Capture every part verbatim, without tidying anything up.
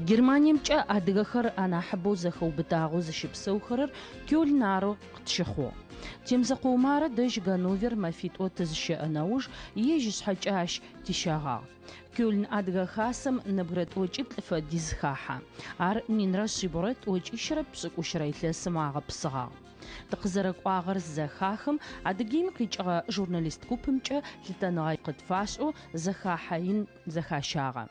Германиемкӏэ адыгэхэр анахьыбэу зэхэубытагъэу зыщыпсэухэрэр Кёльн арэу къытщыхъугъ. Темзэкъо Умарэ дэжь Ганновер мэфитӏо тызыщэӏэ нэуж ежь ышъхьэкӏэ ащ тищэгъагъ. Кёльн Адыгэ Хасэм нэбгырэ тӏокӏиплӏ фэдиз хахьэ. Ар минрэ шъибгъурэ тӏокӏищрэ пшӏыкӏущрэ илъэсым агъэпсыгъагъ. Тыкъызэрэкӏуагъэр зэхахым Адыгеим къикӏыгъэ журналист купымкӏэ лъытэныгъэ къытфашӏэу зэхахьэ ин зэхащагъэ.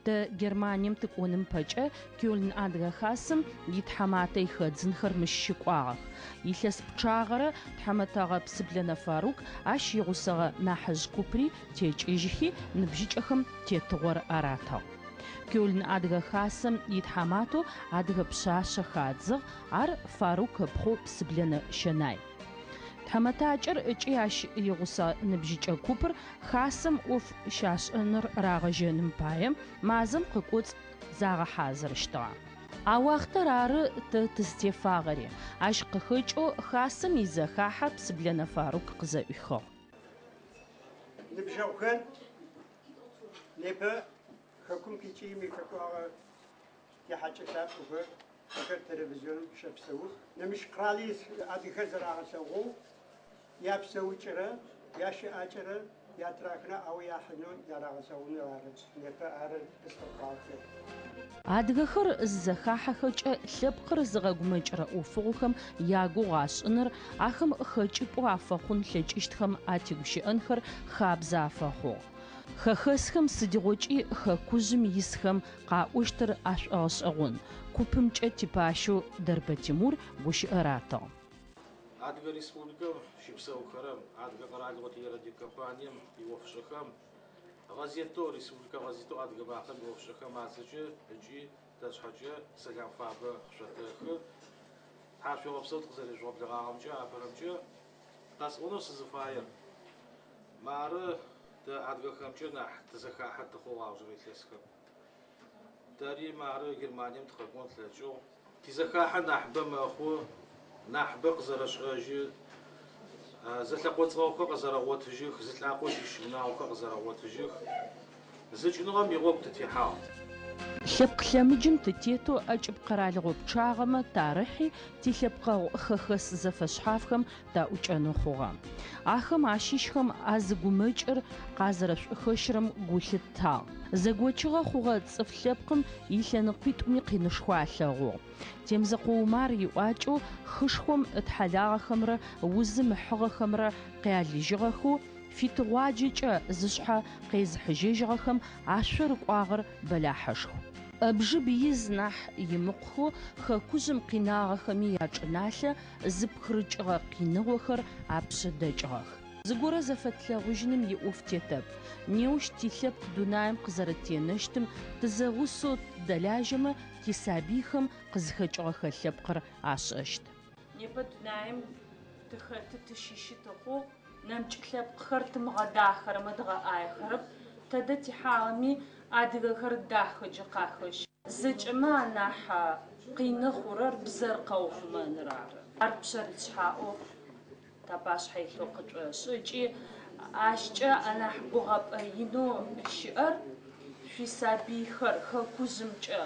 Тэ Германием тыкӏоным пэкӏэ Кёльн Адыгэ Хасэм итхьаматэ ихэдзынхэр мыщ щыкӏуагъэх. Илъэс пчъагъэрэ тхьамэтэгъэ Псыблэнэ Фарук ащ игъусэгъэ нахьыжъ купри текӏыжьхи ныбжьыкӏэхэм тетыгъор аратыгъ. Кёльн Адыгэ Хасэм итхьаматэу адыгэ пшъашъэ хадзыгъ, ар Фарук ыпхъу Псыблэнэ Щэнай. Тхьамэтакӏэр ыкӏи ащ игъусэ ныбжьыкӏэ купыр хасэм ӏоф щашӏэныр рагъэжьэным пае мазэм къыкӏоцӏ загъэхьазырыщтыгъэ. А уахътэр ары тэ тызтефагъэри, ащ къыхэкӏэу хасэм изэхахьэ Псыблэнэ Фарук къызэӏуихыгъ. Ныбжьэгъухэр непэ хэкум къикӏи къэкӏуагъэ тихьакӏэ лъапӏэхэр ахэр телевизионым щэпсэух. Нэмыкӏ къэрали адыгэхэр зэрагъэлъэгъоу япсэукӏэрэ ящыӏакӏэрэ ятырахынэ ау яхьынэу ярагъэлъэгъуныр ары непэ ары къызфэкӏуагъэхэр. Адыгэхэр зызэхахьэхэкӏэ лъэпкъыр зыгъэгумэкӏырэ ӏофыгъохэм ягугъу ашӏыныр, ахэм хэкӏыпӏэу афэхъун лъэкӏыщтхэм атегущыӏэнхэр хабзэ афэхъугъ. Хэхэсхэм сыдигъокӏи хэкужъым исхэм къаӏощтыр ашӏогъэшӏэгъон. Купымкӏэ типащэу Дэрбэ Тимур гущыӏэ ратыгъ. Адыгэ Республикэм щыпсэухэрэм, Адыгэ къэралыгъо телерадиокомпанием иӏофшӏэхэм, гъэзетэу, республикэ гъэзетэу Адыгэ макъэм иӏофшӏэхэм ацӏэкӏэ ыкӏи тэ тшъхьэкӏэ сэлам фабэ къышъотэхы. Тхьашъуегъэпсэу тыкъызэрежъугъэблэгъагъэмкӏэ, апэрэмкӏэ къэсӏонэу сызыфаер. Мары тэ адыгэхэмкӏэ нахь тызэхахьэ тыхъугъ аужырэ илъэсхэм. Тэри мары Германием тыкъэкӏон тлъэкӏыгъ. Тизэхахьэ нахьыбэ мэхъу, нахьыбэ къызэрэшӏэжьы, зэлъэкъоцӏыгъэхэр къызэрэгъотыжьых, зы лӏакъо щыщ унагъохэр къызэрэгъотыжьых. Зыкӏыныгъэм игъогу тытехьагъ. Лъэпкъ лъэмыджым тытетэу ӏэкӏыб къэралыгъо пчъагъэмэ тарыхьи тилъэпкъэгъу хэхэс зэфэшъхьафхэм таӏукӏэнэу хъугъэ. Ахэм ащыщхэм а зы гумэкӏыр къазэрэшӏухэщырэм гу лъыттагъ. Зэгочыгъэ хъугъэ цӏыф лъэпкъым илъэныкъуитӏуми къинышхо алъэгъугъ. Темзэкъо Умар иӏуакӏэу хышхом ытхьалагъэхэмрэ узым ыхьыгъэхэмрэ къялыжьыгъэхэу фитыгъуаджэкӏэ зышъхьэ къезыхьыжьэжьыгъэхэм ашъо рыкӏуагъэр бэлахьышху. Ӏэбжыб из нахь имыкъухэу хэкужъым къинагъэхэми ячӏыналъэ зыпхырыкӏыгъэ къиныгъохэр апшъэ дэкӏыгъэх. Зыгорэ зэфэтлъэгъужьыным иӏоф тетэп. Неущ тилъэпкъ дунаим къызэрэтенэщтым тызэгъусэу дэлажьэмэ тисабыйхэм къызхэкӏыгъэхэ лъэпкъыр ашӏэщт. Непэ дунаим тыхэты тыщыщы тыхъугъ, нэмыкӏ лъэпкъхэр тымыгъэдахэрэмэ дгъэӏаехэрэп, тэдэ тихьагъэми адыгэхэр дахэкӏэ къахэщ. Зэкӏэмэ анахь къины хъурэр бзэр къэухъумэныр ары. Ар пшъэрылъ шъхьаӏэу тапашъхьэ илъэу къытшӏошӏы ыкӏи ащкӏэ анахь гугъэпӏэ инэу щыӏэр шъуисабыйхэр хэкужъымкӏэ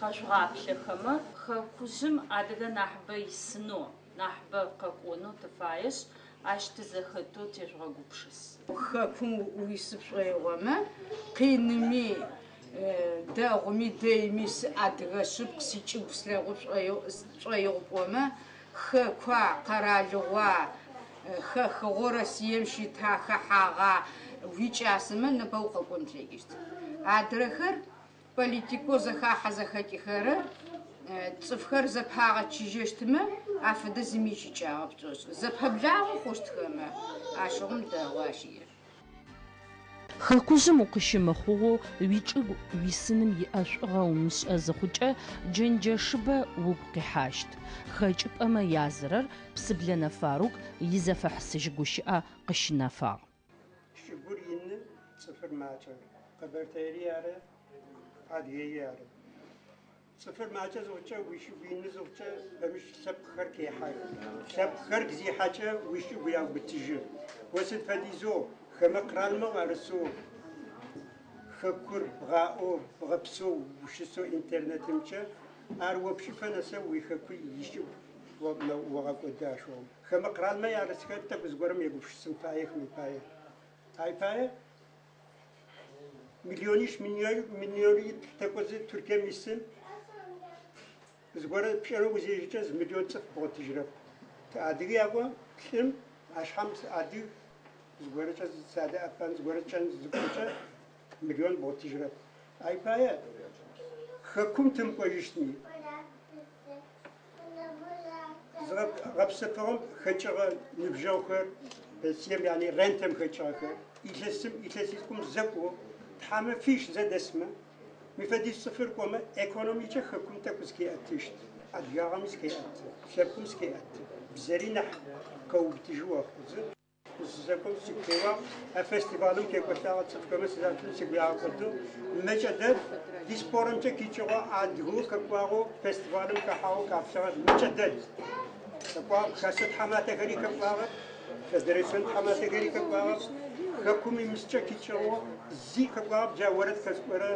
къэжъугъаплъэхэмэ, хэкужъым адыгэ нахьыбэ исынэу, нахьыбэ къэкӏонэу тыфаешъ, ащ тызэхэтэу тежъугъэгупшыс. Хэкум уисы пшӏоигъомэ, къиными, дэгъуми, дэйми адыгэ шъыпкъ сичӏыгу слъэгъу шӏоигъу пӏомэ, хэкуа, къэралыгъуа, хэхыгъэу Россием щыта хэхьагъа уикӏасэмэ непэ укъэкӏон плъэкӏыщт. Адрэхэр политикэу зэхахьэ зэхэкӏыхэрэр цӏыфхэр зэпагъэчыжьэщтмэ афэдэ зыми ищыкӏагъэп тшӏошӏы. Зэпэблагъэ хъущтхэмэ ащыгъум дэгъу ащ иӏэр. Хэкужъым укъыщымыхъугъэу уичӏыгу уисыным иӏэшӏугъэ умышӏэ зыхъукӏэ джэнджэшыбэ угу къихьащт. Хэкӏыпӏэмэ язырэр Псыблэнэ Фарук изэфэхьысыжь гущыӏэ къыщынэфагъ. Чӏыгур ины, цӏыфыр макӏэ. Къэбэртэери ары, Адыгеи ары. Цӏыфыр макӏэ зыхъукӏэ, уичӏыгу ины зыхъукӏэ бэмыщ лъэпкъхэр къехьэх. Лъэпкъхэр зихьэкӏэ уичӏыгу яубытыжьы. О сыд фэдизэу хэмэ къэралмэ уарысэу хэкур бгъаӏоу, бгъэпсэу, ущысэу интернетымкӏэ ар о пшыфэ нэсэу уихэку ичӏыгу огъэкӏоды ашъугъэм. Хэмэ къэралмэ ярысхэр тӏэкӏу зыгорэм егупшысын фаех мы пае. Ай пае миллионищ миллионитӏу тэкӏозы Туркием исым зыгорэ пшӏэрэу узежьыкӏэ зы миллион цӏыф бгъотыжьырэп. Адыгэ яӏо лӏым ашъхьэм адыг зыгорэкӏэ садэӏэпэн зыгорэкӏэ зыпӏокӏэ миллион бгъотыжьырэп. Ай пае хэкум тымкӏожьыщтми гъэпсэфыгъэм хэкӏыгъэ ныбжьэгъухэр пенсием яни рентэм хэкӏыгъэхэр илъэсым илъэситӏум зэкӏо тхьамэфищ зэдэсмэ мы фэдиз цӏыфыр кӏомэ экономикэ хэкум тӏэкӏу зыкеӏэтыщт, адыгагъэми зыкеӏэты, лъэпкъым зыкеӏэты, бзэри нахь къэубытыжьы охъузы. Сызэкӏом сыгу теуагъ, а фестивалым текӏолӏагъэ цӏыфхэмэ сызатым сыгу ягъэкӏодыгъ. Мэкӏэ дэд диаспорэмкӏэ къикӏыгъэ адыгэу къэкӏуагъэу фестивалым хэхьагъэу къаплъыгъэр мэкӏэ дэд. Къэкӏуагъ хасэ тхьаматэхэри къэкӏуагъэп, федерацион тхьаматэхэри къэкӏуагъэп, хэкум имыскӏэ къикӏыгъэу зи къэкӏуагъэп, джа орэд хэскӏорэ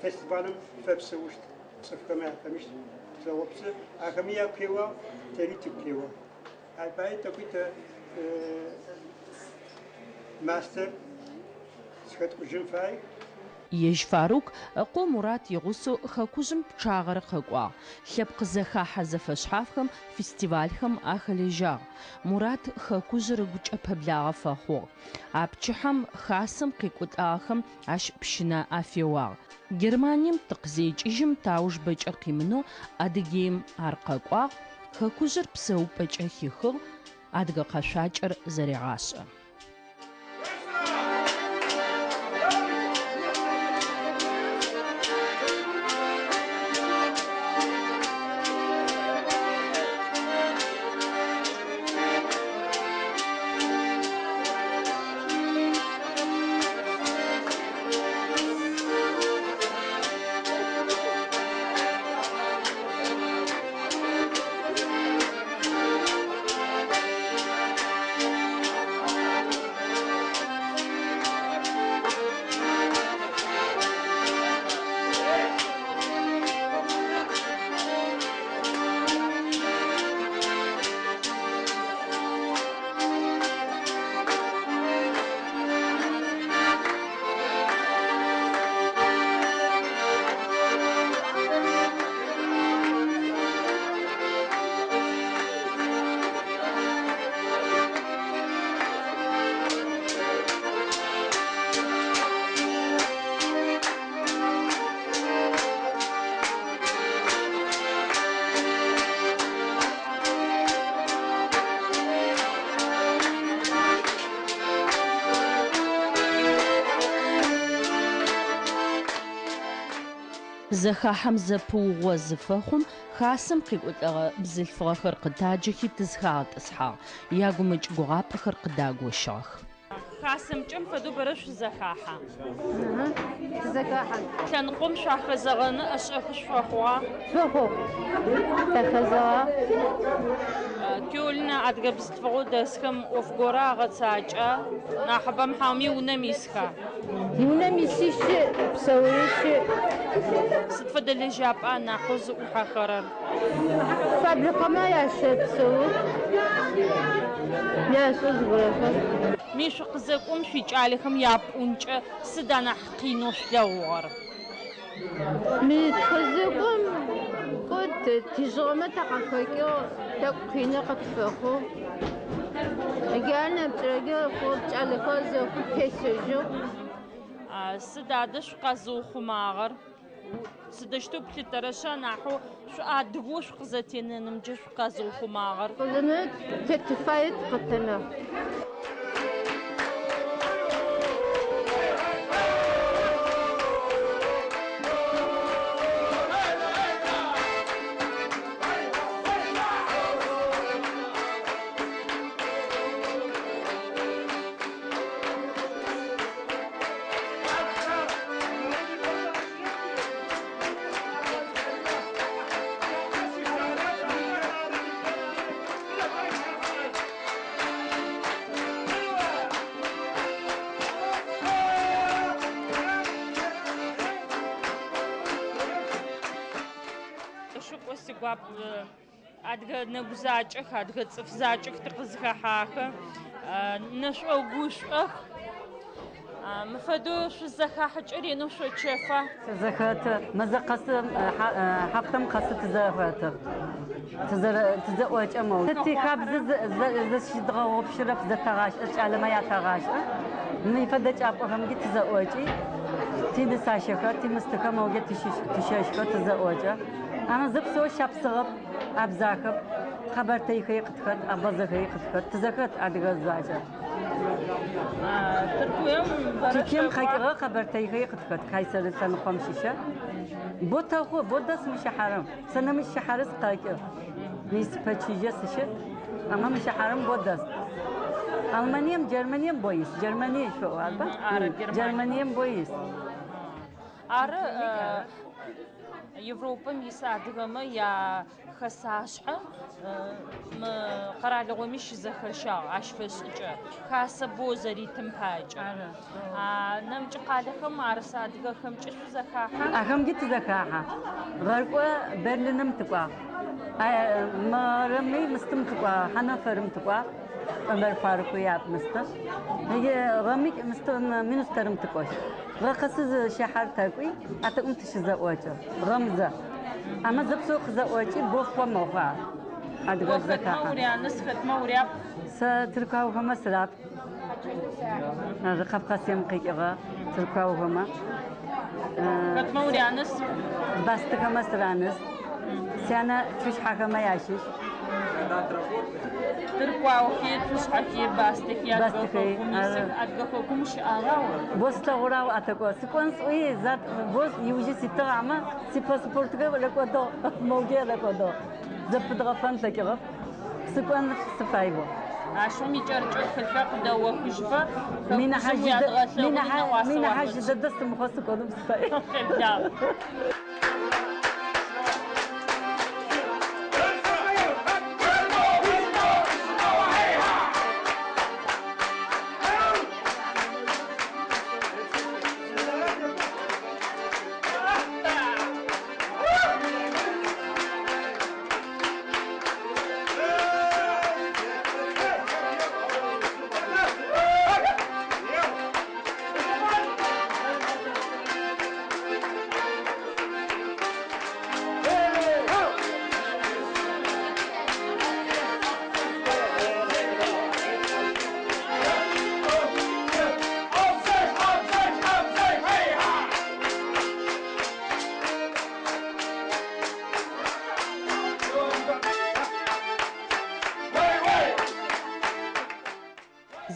фестивалым фэпсэущт цӏыфхэмэ яфэмыщт зэгъопсы, ахэми ягу теуагъ, тэри тыгу теуагъ. Ай пае тӏэкӏуи тэ мастер зыхэткӏужьын фай. Ежь Фарук ыкъо Мурат игъусэу хэкужъым пчъагъэрэ къэкӏуагъ. Лъэпкъ зэхахьэ зэфэшъхьафхэм, фестивалхэм ахэлэжьагъ. Мурат хэкужъыр ыгукӏэ пэблагъэ фэхъугъ. А пчыхьэм хасэм къекӏолӏагъэхэм ащ пщынэ афеуагъ. Германием тыкъызекӏыжьым тауж бэкӏэ къимынэу Адыгеим ар къэкӏуагъ, хэкужъыр псэупӏэкӏэ хихыгъ, адыгэ къэшъуакӏэр зэрегъашӏэ. Зэхахьэм зэпыугъо зыфэхъум хасэм къекӏолӏэгъэ бзылъфыгъэхэр къытаджэхи тызхагъэтӏысхьагъ, ягумэкӏ гугъапӏэхэр къыдагощыгъэх. Хасэмкӏэм фэдэу бэрэ шъузэхахьа? Тызэхахьэ. Лъэныкъом шъуахэзэгъэны ӏэшӏэхы шъуфэхъугъа? Фэхъугъ. Тахэзэгъа. Кёльн адыгэ бзылъфыгъэу дэсхэм ӏоф горэ агъэцакӏа? Нахьыбэм хьауми унэм исха? Унэм иси щыӏ, псэури щыӏ. Сыд фэдэ лэжьапӏа нахьэу зыӏухьэхэрэр? Фабрикэмэ ящэпсэух, яшӏэ зыгорэхэр. Мы шъукъызэкӏом шъуикӏалэхэм япӏункӏэ сыд анахь къинэу шъулъэгъугъэр? Мы тыкъызэкӏом кӏо тижъыгъэмэ такъыхэкӏыгъ, тӏэкӏу къинэ къытфэхъугъ. Ар нэмыкӏрэкӏэ кӏалэхэр зэхъу тесэжьыгъ. Сыд адэ шъукъэзыухъумагъэр? Сыдэущтэу плъытэрэшъ анахьэу шъуадыгэу шъукъызэтенэнымкӏэ шъукъэзыухъумагъэр? Къызэнэ тэ тыфае тыкъэтэнэ. Сигуап адыгэ нэгу закӏэх, адыгэ цӏыф закӏэх тыкъызхэхьахэ. Нэшӏо-гушӏох. Мы фэдэу шъузэхахьыкӏэ ренэу шъочэфа? Тызэхэты, мэзэ къэсы, хьафтэм къэсы тызэхэты. Тызэӏокӏэ мэу. Тихабзэ зэщыдгъэгъупшырэп, зэтэгъашӏэ, кӏалэмэ ятэгъашӏэ. Мы фэдэ кӏапӏэхэмкӏи тызэӏокӏи, тинысащэхэр, тимыстыхэр мэугэ тыщэщхэр тызэӏокӏэ. Ама зэпсэу шапсыгъэп, абзахэп, къэбэртэйхэри къытхэт, абазэхэри къытхэт, тызэхэт адыгэ закӏэ. Тыркуем Тыркуем къэкӏыгъэ къэбэртэйхэри къытхэт, Кайсэры лъэныкъом щыщэ. Бо тэхъу, бо дэс мы щыхьарым. Сэ нэмыкӏ щыхьары сыкъэкӏы. Мис пэчыжьэ сыщыт, ама мы щыхьарым бо дэс. Алманием, Германием бо ис. Германие шъуӏо, арба? Ары, Германие. Германием бо ис. Ары Европэм ис адыгэмэ я хэсашъхьэ мы къэралыгъоми щызэхэщагъ ащ фэшӏыкӏэ. Хасэ бо зэритым пакӏэ. Нэмыкӏ къалэхэм арыс адыгэхэмкӏэ шъузэхахьа? Ахэмкӏи тызэхахьа. Гъэркӏо Берлиным тыкӏуагъ. Мэрыми мыстым тыкӏуагъ, Хьанафэрым тыкӏуагъ. Омэр Фарукъ яп мысты. Гъэми мыстым Мюнстерым тыкӏощт. Гъэ къэсы щыхьар тэкӏуи, а тэкӏум тыщызэӏокӏэ. Гъэмзэ. Ама зэпсэу къызэӏокӏи, бо мэхъуа. Адыгэ О хэтмэ зэхахьа. уряныс, хэтмэ уряп? Сэ тыркуаухэмэ сырап. Кавказым къикӏыгъэ тыркуаухэмэ. Хэтмэ уряныс? Бастыхэмэ сыраныс. Сянэ цушъхьэхэмэ ящыщ. Тыркуаухи, цушъхьэхи, бастыхи, адыгэ Бастыхи, хэкум исых, адыгэ хэкум щыӏагъа о? Бо слъэгъурау атэкӏо. Сыкӏон сӏуи, зат бо иужьи ситыгъ амэ, сипаспортхэр рэкӏодыгъ, моуге рэкӏодыгъ. Зэпыдгъэфэн лъэкӏыгъэп. Сыкӏон сыфай бо. Ащым икӏэрыкӏэу тхылъхэр къыдэохыжьыфэ, Минахьа хэкужъым жьыдэ- уядгъэлъэгъун минахьа- нэӏуасэ минахьа уафэтшӏын. жьыдэдэ сымыхъо сыкӏоным сыфай. Къеблагъ.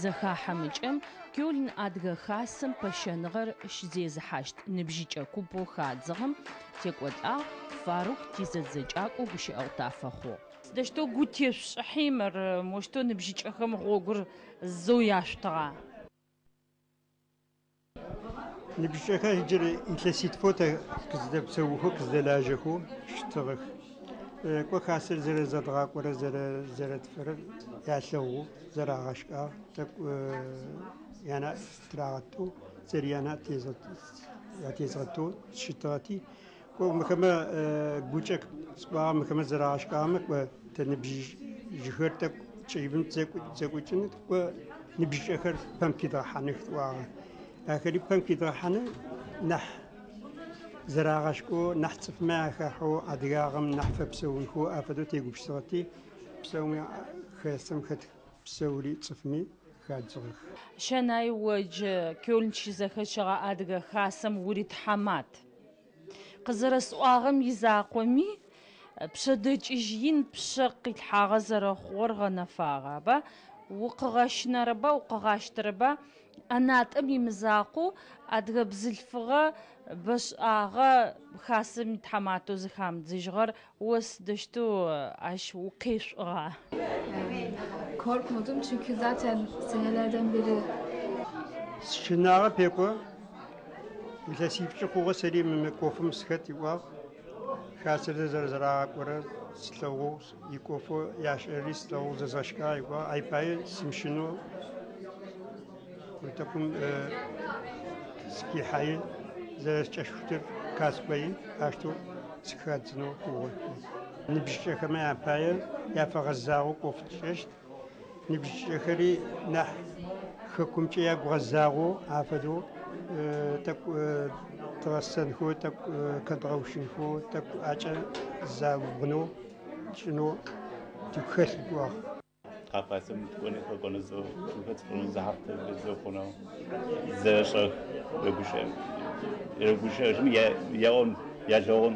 Зэхахьэмыкӏэм Кёльн адыгэ хасэм пэщэныгъэр щызезыхьащт ныбжьыкӏэ купэу хадзыгъэм текӏолӏагъ Фарук тизэдзэкӏакӏо гущыӏэгъу тафэхъугъ. Сыдэущтэу гу тешъушӏыхьи мыр моущтэу ныбжьыкӏэхэм гъогур зэу яшъутыгъа? Ныбжьыкӏэхэр иджыри илъэситфэу тэ къыздэпсэухэу, къыздэлажьэхэу щытыгъэх. Кӏо хасэр зэрэзэдгъакӏорэ зэрэтфэрэр ялъэгъу, зэрагъэшкӏагъ, тӏэкӏу яна тырагъэтэу, зэри яна ятезгъэтэу щытыгъэти, кӏо мыхэмэ гукӏэ сӏуагъэ мыхэмэ зэрагъэшкӏагъэмэ, кӏо тэ ныбжьыхэр тӏэкӏу кӏэибым тызэкӏукӏын, кӏо ныбжьыкӏэхэр пэм кидгъэхьаных тӏуагъэ. Ахэри пэм кидгъэхьаны нахь зэрагъэшкӏоу, нахь цӏыфмэ ахахьэу, адыгагъэм нахь фэпсэунхэу афэдэу тегупшысыгъэти, псэуми хасэм хэт псэури цӏыфми хадзыгъэх. Щэнай одж Кёльн щызэхэщэгъэ адыгэ хасэм уритхьамат. Къызэрэсӏуагъэм изакъоми, пшъэдэкӏыжь ин пшъэ къилъхьагъэ зэрэхъугъэр гъэнэфагъэба? Укъыгъэщынэрэба, укъыгъащтэрэба? ӏэнатӏэм имызакъоу адыгэ бзылъфыгъэ бэшӏагъэ хасэм итхьаматэу зыхамыдзыжьыгъэр о сыдэущтэу ащ укъешӏугъа? Korkmadım çünkü zaten senelerden beri Сщынагъэ пекӏо, илъэсипшӏы хъугъэ сэри мы ӏофым сыхэт иӏуагъ. Хасэр зэрэзэрагъакӏорэр слъэгъоу, иӏофэу яшӏэри слъэгъоу зэзгъэшкӏагъ иӏуагъ. Ай пае сымщынэу тӏэкӏум сыкихьаи зэрэскӏэшхутыр каскои, ащтэу сыхадзынэу хъугъэ. Ныбжьыкӏэхэмэ япае яфэгъэзагъэу ӏоф тшӏэщт. Ныбжьыкӏэхэри нахь хэкумкӏэ ягугъэзагъэу афэдэу тӏэкӏу тыгъэсэнхэу, тӏэкӏу кэдгъэущынхэу, тӏэкӏу акӏэ забгъунэу тшӏынэу тыгу хэлъ кӏуагъ. Кавказым тыкӏонэу зэхъунэу зэрэшӏэх рэгущыӏэжьым ягъон ялъэгъун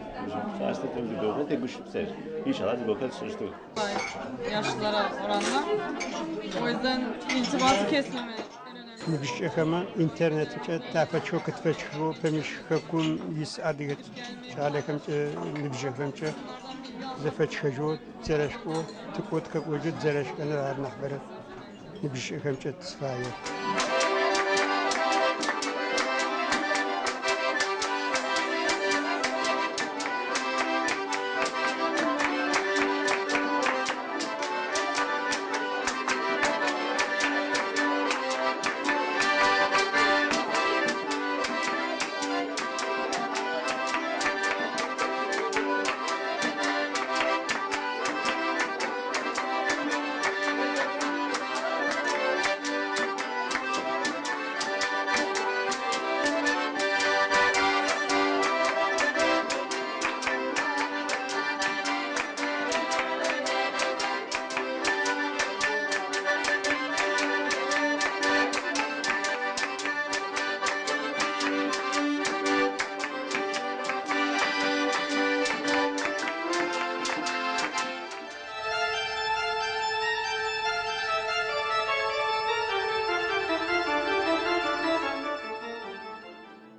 зыгохэр тегущыпсэщт. İnşallah zıgохэр тшӏыщтых. Yaşlılara oranla. O yüzden irtibatı kesmeme en önemli. Ныбжьыкӏэхэмэ интернетымкӏэ тафэчэу кытфэчхэу пэмыщ хэкум ис адыгэ кӏалэхэмкӏэ ныбжьыхэмкӏэ зэфэчхэжьэу зэрэшӏоу тыкӏо тыкъэкӏожьэу зэрэшӏэныр ар нахьыбэрэ ныбжьыкӏэхэмкӏэ тысфае.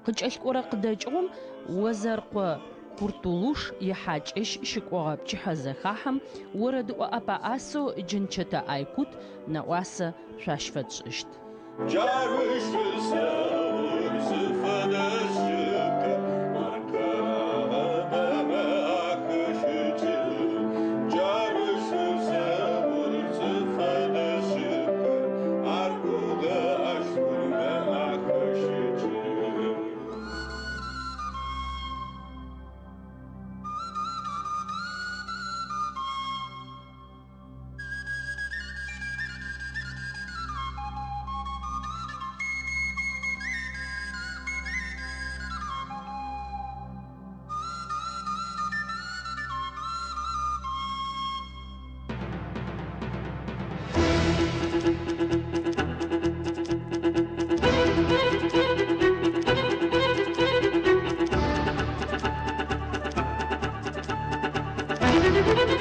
Къыкӏэлъыкӏорэ къыдэкӏыгъом Озэркъо Куртулуш ихьакӏэщ щыкӏогъэ пчыхьэ зэхахьэм орэдыӏо ӏэпэӏасэу Джынчэтэ Айкут нэӏуасэ шъуащ фэтшӏыщт. Thank you.